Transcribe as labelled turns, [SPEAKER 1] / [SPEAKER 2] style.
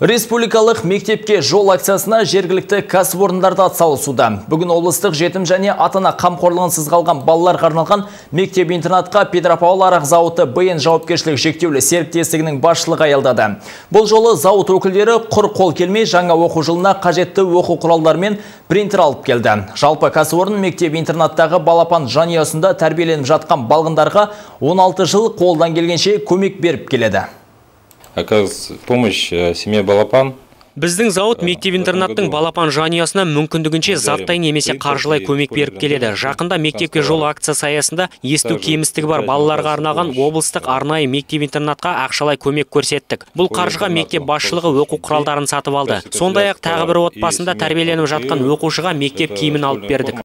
[SPEAKER 1] Республикалық мектепке жол акциясына жергілікті кәсіпорындарда атсалысуда. Бүгін облыстық жетім және ата-ана қамқорлығынсыз қалған балаларға арналған мектеп-интернатқа Петропавл арақ зауыты БН жауапкершілігі шектеулі серіктестігінің басшылығы аялдады. Бұл жолы зауыт өкілдері құр қол келмей жаңа оқу жылына қажетті оқу құралдар мен принтер алып келді. Жалпы кәсіпорын мектеп-интернаттағы балапан жанұясында тәрбиеленіп жатқан балғындарға 16 жыл қолдан келгенше көмек беріп келеді.
[SPEAKER 2] Оказывается помощь семье балапан.
[SPEAKER 3] Біздің зауыт мектеп-интернаттың балапан жанұясына мүмкіндігінше заттай немесе қаржылай көмек беріп келеді. Жақында мектепке жол акциясы аясында есту кемістігі бар балаларға арналған облыстық арнайы мектеп-интернатқа ақшалай көмек көрсеттік. Бұл қаржыға мектеп басшылығы оқу құралдарын сатып алды. Сондай-ақ тағы бір отбасында тәрбиеленіп жатқан оқушыға мектеп киімін алып бердік.